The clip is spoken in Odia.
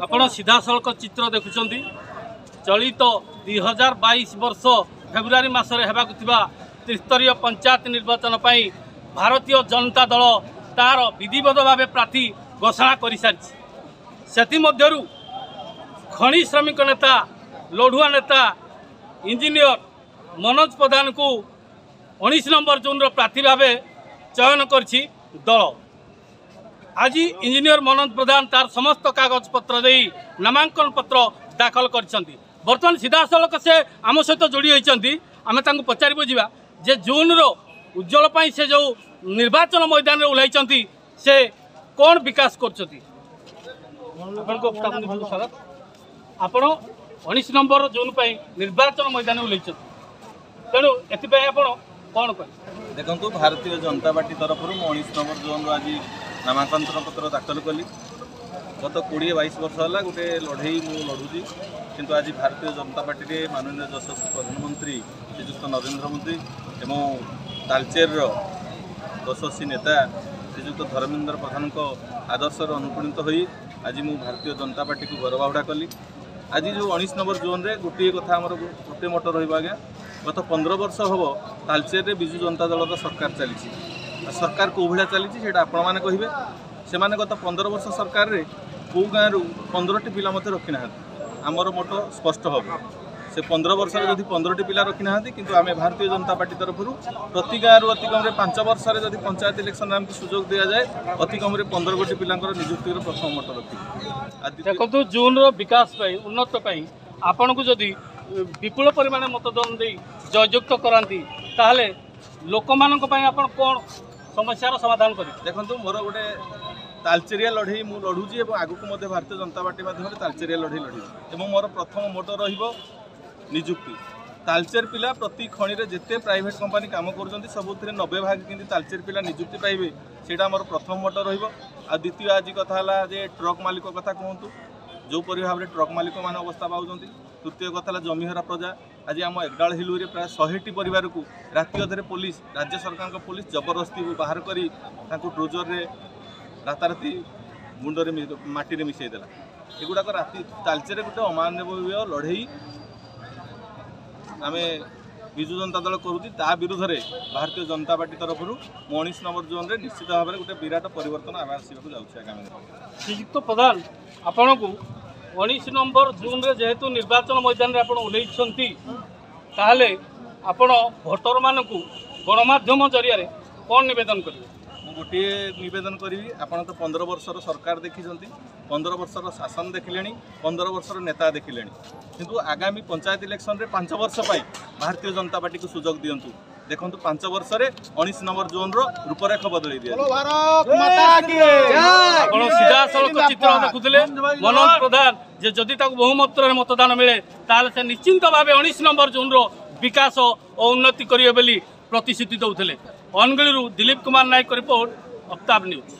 ଆପଣ ସିଧାସଳଖ ଚିତ୍ର ଦେଖୁଛନ୍ତି। ଚଳିତ 2022 ବର୍ଷ ଫେବୃଆରୀ ମାସରେ ହେବାକୁ ଥିବା ତ୍ରିସ୍ତରୀୟ ପଞ୍ଚାୟତ ନିର୍ବାଚନ ପାଇଁ ଭାରତୀୟ ଜନତା ଦଳ ତାର ବିଧିବଦ୍ଧ ଭାବେ ପ୍ରାର୍ଥୀ ଘୋଷଣା କରିସାରିଛି। ସେଥିମଧ୍ୟରୁ ଖଣି ଶ୍ରମିକ ନେତା, ଲଢ଼ୁଆ ନେତା ଇଞ୍ଜିନିୟର ମନୋଜ ପ୍ରଧାନଙ୍କୁ 19 ନମ୍ବର ଜୋନ୍ର ପ୍ରାର୍ଥୀ ଭାବେ ଚୟନ କରିଛି ଦଳ। ଆଜି ଇଞ୍ଜିନିୟର ମନୋଜ ପ୍ରଧାନ ତାର ସମସ୍ତ କାଗଜପତ୍ର ଦେଇ ନାମାଙ୍କନ ପତ୍ର ଦାଖଲ କରିଛନ୍ତି। ବର୍ତ୍ତମାନ ସିଧାସଳଖ ସେ ଆମ ସହିତ ଯୋଡ଼ି ହୋଇଛନ୍ତି। ଆମେ ତାଙ୍କୁ ପଚାରି ବୁଝିବା ଯେ ଜୁନ୍ର ଉଜ୍ଜଳ ପାଇଁ ସେ ଯେଉଁ ନିର୍ବାଚନ ମଇଦାନରେ ଓହ୍ଲାଇଛନ୍ତି, ସେ କ'ଣ ବିକାଶ କରୁଛନ୍ତି। ଆପଣଙ୍କ ସ୍ୱାଗତ। ଆପଣ 19 ନମ୍ବର ଜୋନ୍ ପାଇଁ ନିର୍ବାଚନ ମଇଦାନରେ ଓହ୍ଲାଇଛନ୍ତି, ତେଣୁ ଏଥିପାଇଁ ଆପଣ କ'ଣ କହିବେ? ଦେଖନ୍ତୁ, ଭାରତୀୟ ଜନତା ପାର୍ଟି ତରଫରୁ ମୁଁ 19 ନମ୍ବର ଜୋନ୍ରୁ ଆଜି ନାମାଙ୍କନ ପତ୍ର ଦାଖଲ କଲି। ଗତ 20-22 ବର୍ଷ ହେଲା ଗୋଟେ ଲଢ଼େଇ ମୁଁ ଲଢ଼ୁଛି, କିନ୍ତୁ ଆଜି ଭାରତୀୟ ଜନତା ପାର୍ଟିରେ ମାନନୀୟ ଯଶସ୍ୱୀ ପ୍ରଧାନମନ୍ତ୍ରୀ ଶ୍ରୀଯୁକ୍ତ ନରେନ୍ଦ୍ର ମୋଦି ଏବଂ ତାଲଚେରର ଯଶସ୍ୱୀ ନେତା ଶ୍ରୀଯୁକ୍ତ ଧର୍ମେନ୍ଦ୍ର ପ୍ରଧାନଙ୍କ ଆଦର୍ଶରେ ଅନୁପ୍ରାଣିତ ହୋଇ ଆଜି ମୁଁ ଭାରତୀୟ ଜନତା ପାର୍ଟିକୁ ଘରବାହୁଡ଼ା କଲି। ଆଜି ଯେଉଁ 19 ନମ୍ବର ଜୋନ୍ରେ ଗୋଟିଏ କଥା, ଆମର ଗୋଟେ ମତ ରହିବ ଆଜ୍ଞା। ଗତ 15 ବର୍ଷ ହେବ ତାଲଚେରରେ ବିଜୁ ଜନତା ଦଳର ସରକାର ଚାଲିଛି। ଆଉ ସରକାର କେଉଁ ଭଳିଆ ଚାଲିଛି, ସେଇଟା ଆପଣମାନେ କହିବେ। ସେମାନେ ଗତ 15 ବର୍ଷ ସରକାରରେ କେଉଁ ଗାଁରୁ 15ଟି ପିଲା ମଧ୍ୟ ରଖିନାହାନ୍ତି। ଆମର ମତ ସ୍ପଷ୍ଟ ହେବ, ସେ 15 ବର୍ଷରେ ଯଦି 15ଟି ପିଲା ରଖିନାହାନ୍ତି, କିନ୍ତୁ ଆମେ ଭାରତୀୟ ଜନତା ପାର୍ଟି ତରଫରୁ ପ୍ରତି ଗାଁରୁ ଅତି କମ୍ରେ 5 ବର୍ଷରେ ଯଦି ପଞ୍ଚାୟତ ଇଲେକ୍ସନରେ ଆମକୁ ସୁଯୋଗ ଦିଆଯାଏ, ଅତି କମ୍ରେ 15 ଗୋଟି ପିଲାଙ୍କର ନିଯୁକ୍ତିର ପ୍ରଥମ ମତ ରଖିବୁ। ଦେଖନ୍ତୁ, ଜୁନ୍ର ବିକାଶ ପାଇଁ, ଉନ୍ନତ ପାଇଁ ଆପଣଙ୍କୁ ଯଦି ବିପୁଳ ପରିମାଣ ମତଦାନ ଦେଇ ଜୟଯୁକ୍ତ କରାନ୍ତି, ତାହେଲେ ଲୋକମାନଙ୍କ ପାଇଁ ଆପଣ କ'ଣ ସମସ୍ୟାର ସମାଧାନ କରିବେ? ଦେଖନ୍ତୁ, ମୋର ଗୋଟେ ତାଲଚେରିଆ ଲଢ଼େଇ ମୁଁ ଲଢ଼ୁଛି ଏବଂ ଆଗକୁ ମଧ୍ୟ ଭାରତୀୟ ଜନତା ପାର୍ଟି ମାଧ୍ୟମରେ ତାଲଚେରିଆ ଲଢ଼େଇ ଲଢ଼ିବି ଏବଂ ମୋର ପ୍ରଥମ ମୋଟୋ ରହିବ ନିଯୁକ୍ତି। ତାଲଚେର ପିଲା ପ୍ରତି ଖଣିରେ ଯେତେ ପ୍ରାଇଭେଟ୍ କମ୍ପାନୀ କାମ କରୁଛନ୍ତି, ସବୁଥିରେ 90 ଭାଗ କେମିତି ତାଲଚେର ପିଲା ନିଯୁକ୍ତି ପାଇବେ, ସେଇଟା ଆମର ପ୍ରଥମ ମୋଟୋ ରହିବ। ଆଉ ଦ୍ୱିତୀୟ, ଆଜି କଥା ହେଲା ଯେ ଟ୍ରକ୍ ମାଲିକ କଥା କୁହନ୍ତୁ, ଯେଉଁପରି ଭାବରେ ଟ୍ରକ୍ ମାଲିକମାନେ ଅବସ୍ଥା ପାଉଛନ୍ତି। ତୃତୀୟ କଥା ହେଲା ଜମିହରା ପ୍ରଜା। ଆଜି ଆମ ଏଗଡାଳ ହିଲୁରେ ପ୍ରାୟ 100ଟି ପରିବାରକୁ ରାତି ଅଧରେ ପୋଲିସ, ରାଜ୍ୟ ସରକାରଙ୍କ ପୋଲିସ ଜବରଦସ୍ତି ବାହାର କରି ତାଙ୍କୁ ଡ୍ରୋଜରରେ ରାତାରାତି ମୁଣ୍ଡରେ ମାଟିରେ ମିଶାଇ ଦେଲା। ଏଗୁଡ଼ାକ ରାତି ତାଲଚେରରେ ଗୋଟେ ଅମାନବୀୟ ଲଢ଼େଇ ଆମେ ବିଜୁ ଜନତା ଦଳ କରୁଛି। ତା ବିରୁଦ୍ଧରେ ଭାରତୀୟ ଜନତା ପାର୍ଟି ତରଫରୁ ମୁଁ 19 ନମ୍ବର ଜୋନ୍ରେ ନିଶ୍ଚିତ ଭାବରେ ଗୋଟେ ବିରାଟ ପରିବର୍ତ୍ତନ ଆମେ ଆସିବାକୁ ଯାଉଛି ଆଗାମୀ ଦିନରେ। ଶ୍ରୀଯୁକ୍ତ ପ୍ରଧାନ, ଆପଣଙ୍କୁ 19 ନମ୍ବର ଜୁନ୍ରେ ଯେହେତୁ ନିର୍ବାଚନ ମଇଦାନରେ ଆପଣ ଓହ୍ଲେଇଛନ୍ତି, ତାହେଲେ ଆପଣ ଭୋଟରମାନଙ୍କୁ ଗଣମାଧ୍ୟମ ଜରିଆରେ କ'ଣ ନିବେଦନ କରିବେ? ମୁଁ ଗୋଟିଏ ନିବେଦନ କରିବି, ଆପଣ ତ 15 ବର୍ଷର ସରକାର ଦେଖିଛନ୍ତି, 15 ବର୍ଷର ଶାସନ ଦେଖିଲେଣି, 15 ବର୍ଷର ନେତା ଦେଖିଲେଣି, କିନ୍ତୁ ଆଗାମୀ ପଞ୍ଚାୟତ ଇଲେକ୍ସନରେ 5 ବର୍ଷ ପାଇଁ ଭାରତୀୟ ଜନତା ପାର୍ଟିକୁ ସୁଯୋଗ ଦିଅନ୍ତୁ। ଦେଖନ୍ତୁ, 5 ବର୍ଷରେ 19 ନମ୍ବର ଜୋନ୍ର ରୂପରେଖ ବଦଳେଇ ଦିଆଯିବ। ଆପଣ ସିଧାସଳଖ ଚିତ୍ର ଦେଖୁଥିଲେ ମନୋଜ ପ୍ରଧାନ ଯେ ଯଦି ତାକୁ ବହୁମାତ୍ରାରେ ମତଦାନ ମିଳେ, ତାହେଲେ ସେ ନିଶ୍ଚିନ୍ତ ଭାବେ 19 ନମ୍ବର ଜୋନ୍ର ବିକାଶ ଓ ଉନ୍ନତି କରିବେ ବୋଲି ପ୍ରତିଶ୍ରୁତି ଦେଉଥିଲେ। ଅନୁଗୁଳରୁ ଦିଲ୍ଲୀପ କୁମାର ନାୟକ ରିପୋର୍ଟ, ଅଫତାବ ନ୍ୟୁଜ୍।